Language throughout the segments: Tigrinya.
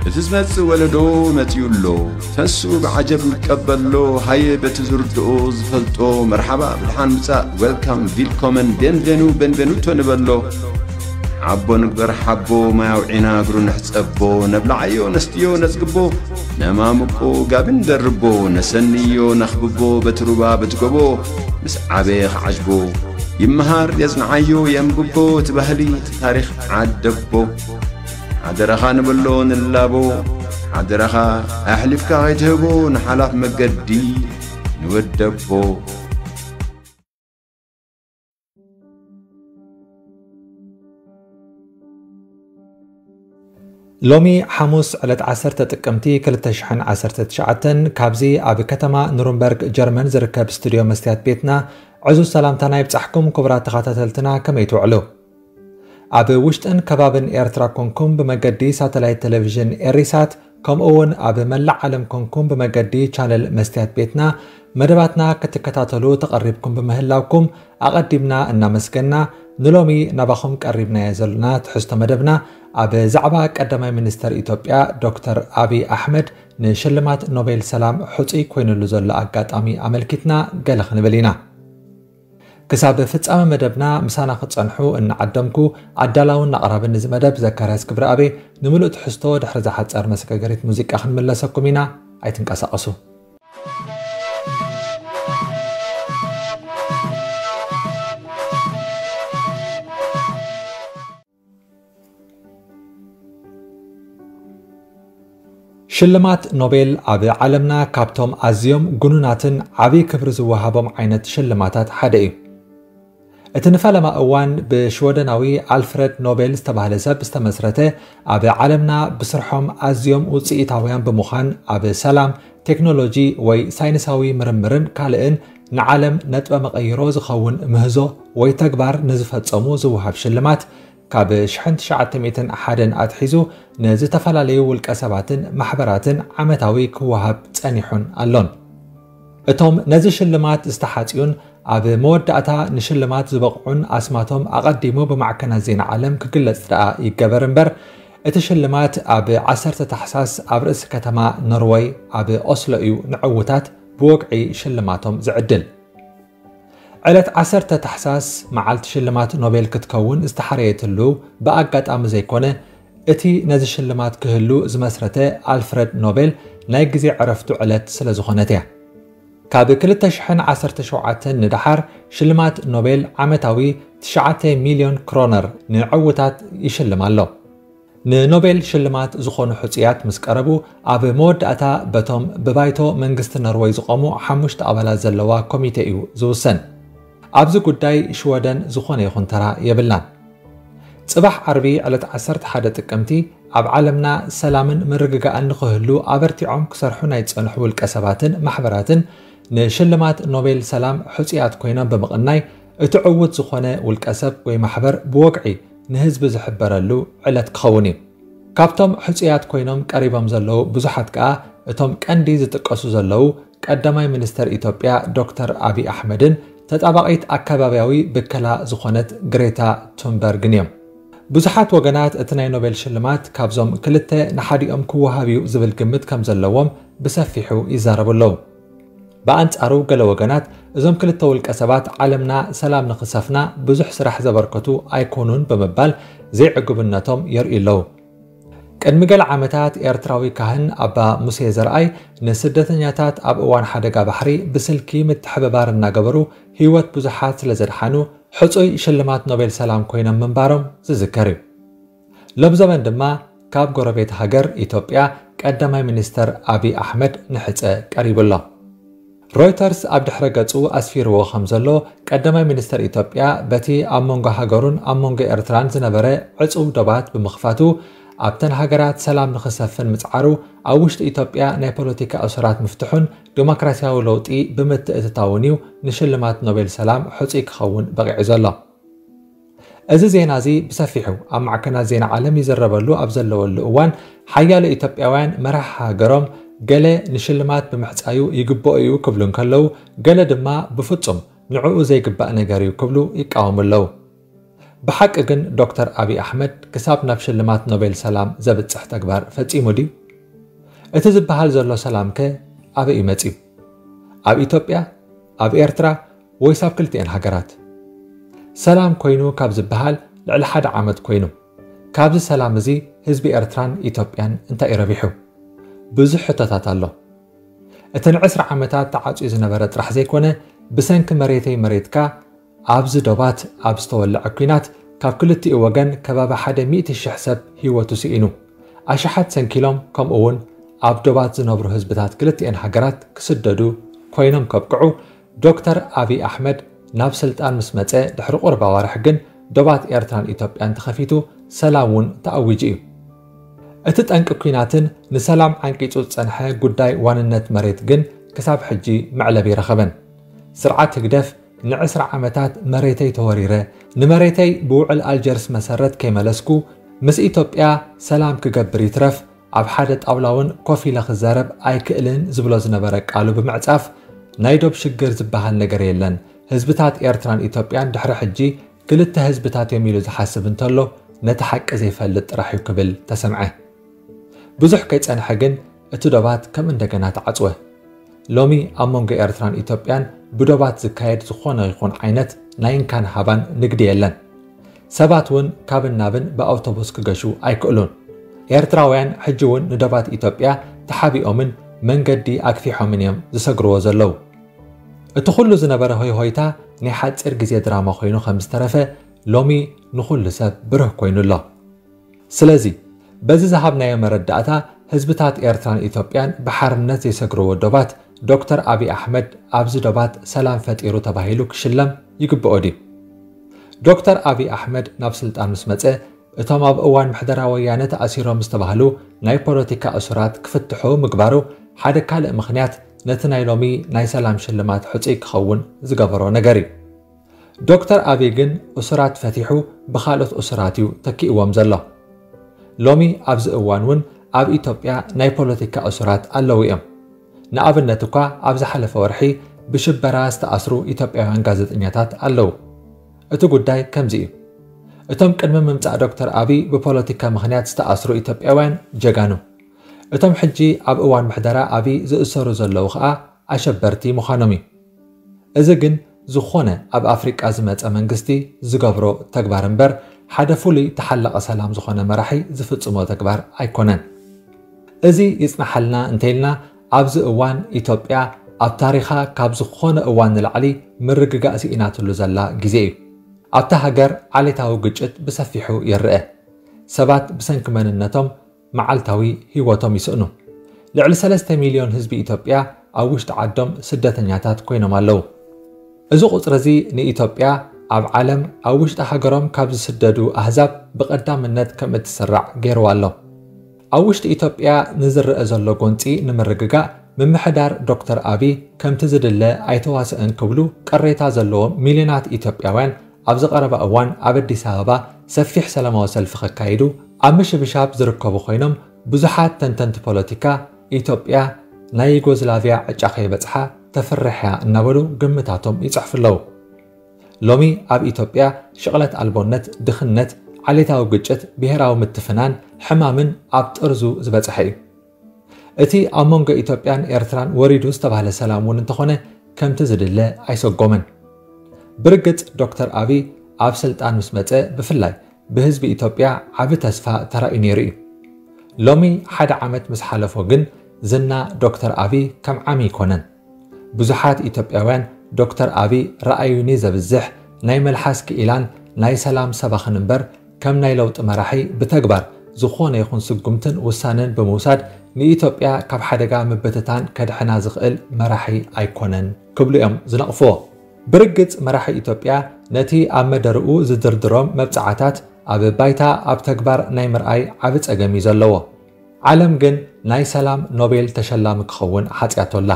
እቲ ዝመጽእ ወለዶ መጺኡ ኣሎ። ተሱ ብዓጀብ ይቀበሎ። ሃየ በቲ ዝርድኦ ዝፈልጦ መርሓባ ብድሓን ምጻእ፣ ዌልካም፣ ቪልኮመን፣ ቤንቬኑ፣ ቤንቬኑቶ ንበሎ። ዓቦ ንግበር ሓቦ፣ ማይ ኣውዒና እግሩ ንሕጸቦ። ነብልዓዮ ነስትዮ ነጽግቦ፣ ነማምቆ ጋቢ ንደርቦ። ነሰንዮ ነኽብቦ በቲ ሩባ በቲ ጎቦ፣ ምስ ዓበየ ክዓጅቦ። ይመሃር የጽንዓዮ የንብቦ፣ እቲ ባህሊ እቲ ታሪኽ ዓደቦ። ሓደራኻ ንብሎ ንላቦ፣ ሓደራኻ ኣሕሊፍካ ከይትህቦ ንሓላፍ መገዲ ንወደቦ። ሎሚ ሓሙስ ዕለት ዓሰርተ ጥቅምቲ ክልተ ሽሕን ዓሰርተ ትሽዓተን ካብዚ ኣብ ከተማ ኑርንበርግ ጀርመን ዝርከብ ስቱድዮ መስትያት ቤትና ዕዙዝ ሰላምታና ይብጻሕኩም። ክቡራት ተኸታተልትና ከመይ ትውዕሉ? ኣብ ውሽጥን ከባብን ኤርትራ ኮንኩም ብመገዲ ሳተላይት ቴሌቪዥን ኤሪሳት ከምኡ እውን ኣብ መላእ ዓለም ኮንኩም ብመገዲ ቻነል መስትያት ቤትና መደባትና ክትከታተሉ ተቐሪብኩም ብምህላውኩም ኣቐዲምና እናመስገና፣ ንሎሚ ናባኹም ቀሪብናዮ ዘለና ትሕዝቶ መደብና ኣብ ዛዕባ ቀዳማይ ሚኒስተር ኢትዮጵያ ዶክተር ኣብይ ኣሕመድ ንሽልማት ኖቤል ሰላም ሕጹይ ኮይኑሉ ዘሎ ኣጋጣሚ ኣመልኪትና ገለ ክንብል ኢና። ክሳብ ፍጻመ መደብና ምሳና ክትጸንሑ እናዓደምኩ፣ ኣዳላውን ኣቕራብን እዚ መደብ ዘካርያስ ክብረኣብ። ንምሉእ ትሕዝቶ ድሕሪ እዛ ሓጻር መሰጋገሪት ሙዚቃ ክንምለሰኩም ኢና። ኣይትንቀሳቐሱ። ሽልማት ኖቤል ኣብ ዓለምና ካብቶም ኣዝዮም ግኑናትን ዓብዪ ክብሪ ዝወሃቦም ዓይነት ሽልማታት ሓደ እዩ። እቲ ንፈለማ እዋን ብሽወደናዊ ኣልፍረድ ኖቤል ዝተባህለ ሰብ ዝተመስረተ፣ ኣብ ዓለምና ብስርሖም ኣዝዮም ውጽኢታውያን ብምዃን ኣብ ሰላም፣ ቴክኖሎጂ ወይ ሳይንሳዊ ምርምርን ካልእን ንዓለም ነጥበ መቐይሮ ዝኸውን ምህዞ ወይ ተግባር ንዝፈጸሙ ዝወሃብ ሽልማት፣ ካብ ሽሕን ትሽዓተ ሚእትን ሓደን ኣትሒዙ ንዝተፈላለዩ ውልቀ ሰባትን ማሕበራትን ዓመታዊ ክወሃብ ጸኒሑን ኣሎን። እቶም ነዚ ሽልማት ዝተሓጽዩን ኣብ መወዳእታ ንሽልማት ዝበቕዑን ኣስማቶም ኣቐዲሙ ብማዕከናት ዜና ዓለም ክግለጽ ደኣ ይገበር እምበር፣ እቲ ሽልማት ኣብ ዓሰርተ ታሕሳስ ኣብ ርእሲ ከተማ ኖርወይ ኣብ ኦስሎ እዩ ንዕዉታት ብወግዒ ሽልማቶም ዝዕድል። ዕለት ዓሰርተ ታሕሳስ መዓልቲ ሽልማት ኖቤል ክትከውን ዝተሓረየትሉ ብኣጋጣሚ ዘይኮነ፣ እቲ ነዚ ሽልማት ክህሉ ዝመስረተ ኣልፍረድ ኖቤል ናይ ግዜ ዕረፍቱ ዕለት ስለ ዝኾነት እያ። ካብ ክልተ ሽሕን ዓሰርተ ሸውዓተን ንደሓር ሽልማት ኖቤል ዓመታዊ ትሽዓተ ሚልዮን ክሮነር ንዕዉታት ይሽልም ኣሎ። ንኖቤል ሽልማት ዝኾኑ ሕጹያት ምስ ቀረቡ፣ ኣብ መወዳእታ በቶም ብባይቶ መንግስቲ ኖርወይ ዝቖሙ ሓሙሽተ ኣባላት ዘለዋ ኮሚቴ እዩ ዝውሰን። ኣብዚ ጉዳይ ሽወደን ዝኾነ ይኹን ተራ የብላን። ጽባሕ ዓርቢ ዕለት ዓሰርተ ሓደ ጥቅምቲ ኣብ ዓለምና ሰላምን ምርግጋእን ንኽህሉ ኣበርቲዖም ክሰርሑ ናይ ዝጸንሑ ውልቀ ሰባትን ማሕበራትን ንሽልማት ኖቤል ሰላም ሕጹያት ኮይኖም ብምቕናይ፣ እቲ ዕዉት ዝኾነ ውልቀ ሰብ ወይ ማሕበር ብወግዒ ንህዝቢ ዝሕበረሉ ዕለት ክኸውን እዩ። ካብቶም ሕጹያት ኮይኖም ቀሪቦም ዘለዉ ብዙሓት ከኣ እቶም ቀንዲ ዝጥቀሱ ዘለዉ ቀዳማይ ሚኒስተር ኢትዮጵያ ዶክተር ኣብይ ኣሕመድን ተጣባቒት ኣከባብያዊ ብከላ ዝኾነት ግሬታ ቱንበርግን እዮም። ብዙሓት ወገናት እቲ ናይ ኖቤል ሽልማት ካብዞም ክልተ ንሓዲኦም ክወሃብ እዩ ዝብል ግምት ከም ዘለዎም ብሰፊሑ ይዛረቡ ኣለዉ። ብኣንጻሩ ገለ ወገናት እዞም ክልተ ውልቀ ሰባት ዓለምና ሰላም ንኽሰፍና ብዙሕ ስራሕ ዘበርከቱ ኣይኮኑን ብምባል ዘይዕጉብነቶም የርእዩ ኣለዉ። ቅድሚ ገለ ዓመታት ኤርትራዊ ካህን ኣባ ሙሴ ዘርኣይ ንስደተኛታት ኣብ እዋን ሓደጋ ባሕሪ ብስልኪ ምትሕብባር እናገበሩ ህይወት ብዙሓት ስለ ዘድሓኑ ሕጹይ ሽልማት ኖቤል ሰላም ኮይኖም ምንባሮም ዝዝከር እዩ። ሎምዘበን ድማ ካብ ጎረቤት ሃገር ኢትዮጵያ ቀዳማይ ሚኒስተር ኣብይ ኣሕመድ ንሕጸ ቀሪቡ ኣሎ። ሮይተርስ ኣብ ድሕረ ገጹ ኣስፊርዎ ከም ዘሎ፣ ቀዳማይ ሚኒስተር ኢትዮጵያ በቲ ኣብ መንጎ ሃገሩን ኣብ መንጎ ኤርትራን ዝነበረ ዕጹው ዶባት ብምኽፋቱ፣ ኣብተን ሃገራት ሰላም ንኽሰፍን ምጽዓሩ፣ ኣብ ውሽጢ ኢትዮጵያ ናይ ፖለቲካ እሱራት ምፍትሑን ዲሞክራስያዊ ለውጢ ብምትእትታውን እዩ ንሽልማት ኖቤል ሰላም ሕጹይ ክኸውን በቒዑ ዘሎ። እዚ ዜና እዚ ብሰፊሑ ኣብ ማዕከናት ዜና ዓለም ይዝረበሉ ኣብ ዘለወሉ እዋን፣ ሓያሎ ኢትዮጵያውያን መራሒ ሃገሮም ገለ ንሽልማት ብምሕጻዩ ይግብኦ እዩ ክብሉ እንከለዉ፣ ገለ ድማ ብፍጹም ንዕኡ ዘይግባእ ነገር እዩ ክብሉ ይቃወሙ ኣለዉ። ብሓቂ ግን ዶክተር ኣብይ ኣሕመድ ክሳብ ናብ ሽልማት ኖቤል ሰላም ዘብጽሕ ተግባር ፈጺሙ ድዩ? እቲ ዝበሃል ዘሎ ሰላም ከ ኣበይ እዩ መጺኡ? ኣብ ኢትዮጵያ? ኣብ ኤርትራ? ወይስ ኣብ ክልቲኤን ሃገራት? ሰላም ኮይኑ ካብ ዝበሃል ልዕሊ ሓደ ዓመት ኮይኑ። ካብዚ ሰላም እዚ ህዝቢ ኤርትራን ኢትዮጵያን እንታይ እዩ ረቢሑ? ብዙሕ ሕቶታት ኣሎ። እቲ ንዕስራ ዓመታት ተዓጽዩ ዝነበረ ጥራሕ ዘይኮነ፣ ብሰንኪ መሬተይ መሬትካ ኣብዚ ዶባት ኣብ ዝተወልዐ ኲናት ካብ ክልቲኡ ወገን ከባቢ ሓደ ሚእቲ ሽሕ ሰብ ህይወቱ ስኢኑ። ኣሽሓት ሰንኪሎም፣ ከምኡ እውን ኣብ ዶባት ዝነብሩ ህዝብታት ክልቲኤን ሃገራት ክስደዱ ኮይኖም ከብቅዑ፣ ዶክተር ኣብይ ኣሕመድ ናብ ስልጣን ምስ መጸ ድሕሪ ቁሩብ ኣዋርሕ ግን ዶባት ኤርትራን ኢትዮጵያን ተኸፊቱ ሰላም እውን ተኣዊጁ እዩ። እቲ ጠንቂ ኲናትን ንሰላም ዓንቂጹ ዝጸንሐ ጉዳይ ዋንነት መሬት ግን ክሳብ ሕጂ መዕለቢ ረኸበን። ስርዓት ህግደፍ ንዕስራ ዓመታት መሬተይ ተወሪረ፣ ንመሬተይ ብውዕል ኣልጀርስ መሰረት ከይመለስኩ ምስ ኢትዮጵያ ሰላም ክገብር ይትረፍ ኣብ ሓደ ጣውላ እውን ኮፍ ኢለ ክዛረብ ኣይክእልን ዝብሎ ዝነበረ ቃሉ ብምዕጻፍ ናይ ዶብ ሽግር ዝበሃል ነገር የለን፣ ህዝብታት ኤርትራን ኢትዮጵያን ድሕሪ ሕጂ ክልተ ህዝብታት እዮም ኢሉ ዝሓስብ እንተሎ ነቲ ሓቂ ዘይፈልጥ ጥራሕ እዩ ክብል ተሰምዐ። ብዙሕ ከይጸንሐ ግን እቲ ዶባት ከም እንደገና ተዓጽወ። ሎሚ ኣብ መንጎ ኤርትራን ኢትዮጵያን ብዶባት ዝካየድ ዝኾነ ይኹን ዓይነት ናይ እንካን ሃባን ንግዲ የለን። ሰባት እውን ካብን ናብን ብኣውቶቡስ ክገሹ ኣይክእሉን። ኤርትራውያን ሕጂ እውን ንዶባት ኢትዮጵያ ተሓቢኦምን መንገዲ ኣግፊሖምን እዮም ዝሰግርዎ ዘለዉ። እቲ ኩሉ ዝነበረ ሆይሆይታ ናይ ሓጺር ግዜ ድራማ ኮይኑ ከም ዝተረፈ ሎሚ ንኹሉ ሰብ ብርህ ኮይኑ ኣሎ። ስለዚ በዚ ዝሃብናዮ መረዳእታ ህዝብታት ኤርትራን ኢትዮጵያን ብሓርነት ዘይሰግርዎ ዶባት ዶክተር ኣብይ ኣሕመድ ኣብዚ ዶባት ሰላም ፈጢሩ ተባሂሉ ክሽለም ይግብኦ ድዩ? ዶክተር ኣብይ ኣሕመድ ናብ ስልጣን ምስ መጸ እቶም ኣብ እዋን ምሕደራ ወያነ ተኣሲሮም ዝተባህሉ ናይ ፖለቲካ እሱራት ክፍትሑ ምግባሩ ሓደ ካልእ ምኽንያት ነቲ ናይ ሎሚ ናይ ሰላም ሽልማት ሕጹይ ክኸውን ዝገበሮ ነገር እዩ። ዶክተር ኣብይ ግን እሱራት ፈቲሑ ብኻልኦት እሱራት እዩ ተኪእዎም ዘሎ። ሎሚ ኣብዚ እዋን እውን ኣብ ኢትዮጵያ ናይ ፖለቲካ እሱራት ኣለዉ እዮም። ንኣብነት እኳ ኣብ ዝሓለፈ ወርሒ ብሽበራ ዝተኣስሩ ኢትዮጵያውያን ጋዜጠኛታት ኣለዉ። እቲ ጉዳይ ከምዚ እዩ። እቶም ቅድሚ ምምጻእ ዶክተር ኣብይ ብፖለቲካ ምኽንያት ዝተኣስሩ ኢትዮጵያውያን ጀጋኑ። እቶም ሕጂ ኣብ እዋን ምሕደራ ኣብይ ዝእሰሩ ዘለዉ ኸኣ ኣሸበርቲ ምዃኖም እዩ። እዚ ግን ዝኾነ ኣብ ኣፍሪቃ ዝመጸ መንግስቲ ዝገብሮ ተግባር እምበር ሓደ ፍሉይ ተሓላቒ ሰላም ዝኾነ መራሒ ዝፍጽሞ ተግባር ኣይኮነን። እዚ ይጽናሓልና እንተኢልና ኣብዚ እዋን ኢትዮጵያ ኣብ ታሪኻ ካብ ዝኾነ እዋን ንላዕሊ ምርግጋእ ስኢናትሉ ዘላ ግዜ እዩ። ኣብታ ሃገር ዓሌታዊ ግጭት ብሰፊሑ ይረአ። ሰባት ብሰንኪ መንነቶም መዓልታዊ ህይወቶም ይስእኑ። ልዕሊ ሰለስተ ሚልዮን ህዝቢ ኢትዮጵያ ኣብ ውሽጢ ዓዶም ስደተኛታት ኮይኖም ኣለዉ። እዚ ቁጽሪ እዚ ንኢትዮጵያ ኣብ ዓለም ኣብ ውሽጢ ሃገሮም ካብ ዝስደዱ ኣህዛብ ብቐዳምነት ከም እትስራዕ ገይርዋ ኣሎ። ኣብ ውሽጢ ኢትዮጵያ ንዝረአ ዘሎ ጎንጺ ንምርግጋእ ምምሕዳር ዶክተር ኣብይ ከምቲ ዝድለ ኣይተዋስእን ክብሉ ቅሬታ ዘለዎም ሚልዮናት ኢትዮጵያውያን ኣብዚ ቀረባ እዋን ኣብ ኣዲስ ኣበባ ሰፊሕ ሰላማዊ ሰልፊ ከካይዱ ኣብ ምሽብሻብ ዝርከቡ ኮይኖም ብዙሓት ተንተንቲ ፖለቲካ ኢትዮጵያ ናይ ዩጎዝላቪያ ዕጫ ከይበጽሓ ተፍርሕያ እናበሉ ግምታቶም ይጽሕፉ ኣለዉ። ሎሚ ኣብ ኢትዮጵያ ሽቕለት ኣልቦነት፣ ድኽነት፣ ዓሌታዊ ግጭት፣ ብሄራዊ ምትፍናን ሕማምን ኣብ ጥርዙ ዝበጽሐ እዩ። እቲ ኣብ መንጎ ኢትዮጵያን ኤርትራን ወሪዱ ዝተባህለ ሰላም እውን እንተኾነ ከምቲ ዝድለ ኣይሰጎመን። ብርግጽ ዶክተር ኣብይ ኣብ ስልጣን ምስ መጸ ብፍላይ ብህዝቢ ኢትዮጵያ ዓቢ ተስፋ ተራእዩ ነይሩ እዩ። ሎሚ ሓደ ዓመት ምስ ሓለፎ ግን ዝና ዶክተር ኣብይ ከም ዓሚ ኣይኮነን። ብዙሓት ኢትዮጵያውያን ዶክተር ኣብይ ረኣዩኒ ዘብዝሕ ናይ መልሓስ ክኢላን ናይ ሰላም ሰባኽን እምበር ከም ናይ ለውጢ መራሒ ብተግባር ዝኾነ ይኹን ስጉምትን ውሳነን ብምውሳድ ንኢትዮጵያ ካብ ሓደጋ ምብትታን ከድሕና ዝኽእል መራሒ ኣይኮነን ክብሉ እዮም ዝነቕፍዎ። ብርግጽ መራሒ ኢትዮጵያ ነቲ ኣብ መደርኡ ዝድርድሮም መብጽዓታት ኣብ ባይታ ኣብ ተግባር ናይ ምርኣይ ዓቢ ጸገም እዩ ዘለዎ። ዓለም ግን ናይ ሰላም ኖቤል ተሸላሚ ክኸውን ሓጽያቶ ኣላ።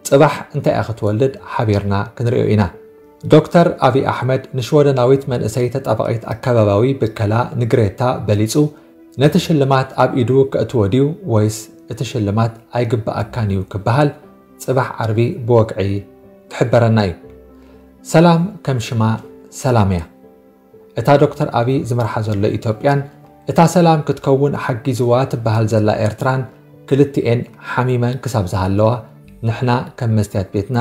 ጽባሕ እንታይ እያ ክትወልድ ሓቢርና ክንርእዮ ኢና። ዶክተር ኣብይ ኣሕመድ ንሽወደናዊት መንእሰይ ተጣባቒት ኣከባባዊ ብከላ ንግሬታ በሊጹ ነቲ ሽልማት ኣብ ኢዱ ከእትዎ ድዩ ወይስ እቲ ሽልማት ኣይግብኣካን እዩ ክበሃል ጽባሕ ዓርቢ ብወግዒ ክሕበረና እዩ። ሰላም ከም ሽማ ሰላም እያ። እታ ዶክተር ኣቢ ዝመርሓ ዘሎ ኢትዮጵያን እታ ሰላም ክትከውን ሓጊዝዋ ትበሃል ዘላ ኤርትራን ክልቲኤን ሓሚመን ክሳብ ዝሃለዋ ንሕና ከም መስትያት ቤትና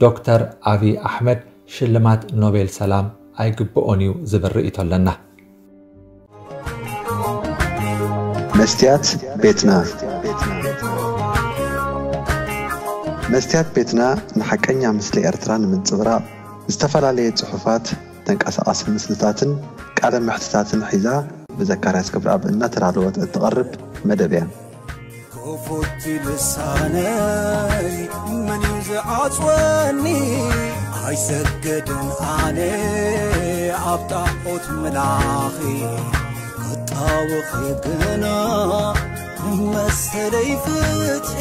ዶክተር ኣቢ ኣሕመድ ሽልማት ኖቤል ሰላም ኣይግብኦን እዩ ዝብል ርእይቶ ኣለና። መስትያት ቤትና መስትያት ቤትና ንሓቀኛ ምስሊ ኤርትራ ንምንጽብራቕ ዝተፈላለየ ጽሑፋት፣ ተንቀሳቓሲ ምስልታትን ቃለ መሕትታትን ሒዛ ብዘካርያስ ገብረኣብ እናተዳለወት እትቐርብ መደብ እያ። ክፉት ልሳነይ መን እዩ ዝዓጽወኒ? ኣይሰግድን ኣነ ኣብ ጣዖት ምላኺ ክጣወኺ ግና መሰለይ ፍትሒ